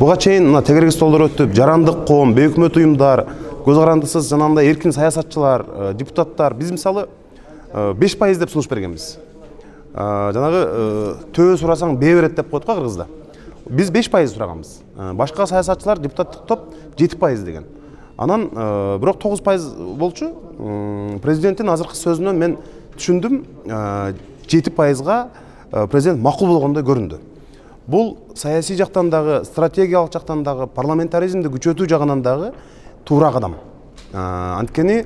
Буга чейин мына тегерек столдор өтүп, жарандык коом, бейөкмөт уюмдар, көз карандысыз жанагындай эркин саясатчылар, депутаттар биз мисалы 5% деп сунуш бергенбиз. Жанагы төбө сурасаң бээ берет деп коет го кыргызда. Биз 5% сураганбыз. Башка саясатчылар, депутаттык топ 7% деген. Анан бирок 9% болчу. Президенттин азыркы сөзүнөн мен түшүндүм, 7%га президент макул болгондой көрүндү. Бул саясий жактан дагы, стратегиялык жактан дагы, парламентаризмди күчөтүү жагынан дагы туура кадам. Анткени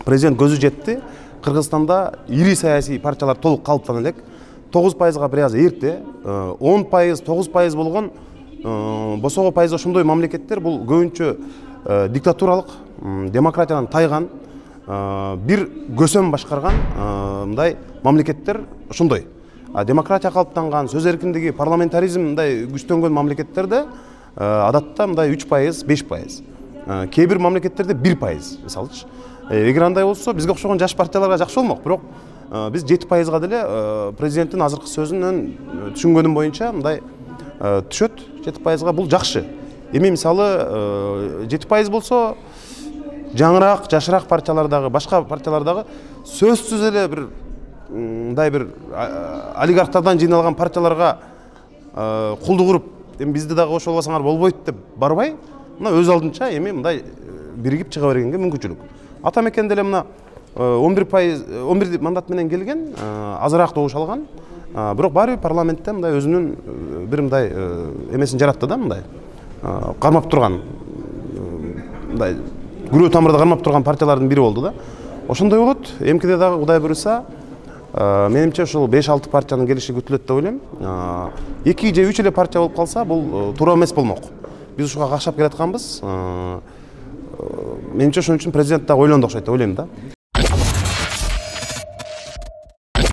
президент көзү жетти. Кыргызстанда ири саясий партиялар толук калыптана элек. 9%га бир аз эрте, 10%, 9% болгон босого пайыз ошондой мамлекеттер бул көбүнчө диктатуралык, демократиядан тайган, бир көсөм башкарган мындай мамлекеттер ошондой. Демократия калыптанган, сөз эркиндиги, парламентаризм мындай күчтөнгөн мамлекеттерде адатта мындай 3%, 5%. Кээ бир мамлекеттерде 1%, мисалычы. Эгер андай болсо, бизге окшогон жаш партияларга жакшы болмок, бирок биз 7%га деле президенттин азыркы сөзүнөн түшүнгөнүм боюнча мындай түшөт. 7%га бул жакшы. Эми мисалы 7% болсо, жаңыраак, жашыраак партиялардагы, башка партиялардагы сөзсүз эле бир мындай бир олигархтардан жыйналган партияларга кулдук уруп, эми бизди дагы кошо албасаңар болбойт деп барбай, мына өз алдынча эми мындай биригип чыга бергенге мүмкүнчүлүк. Ата мекен деле мына 11 мандат менен келген, азыраак добуш алган. Бирок баары парламентте мындай өзүнүн бир мындай эмесин жаратты да, мындай кармап турган, мындай күрөө тамырда кармап турган партиялардын бири болду да. Ошондой болот. Эмкиде дагы Кудай буйруса, менимче ушул 5-6 партиянын келиши күтүлөт деп ойлойм. 2 же 3 эле партия болуп калса, бул туура эмес болмок. Биз ушуга какшап келатканбыз. Менимче ошон үчүн президент дагы ойлонду окшойт деп ойлойм да.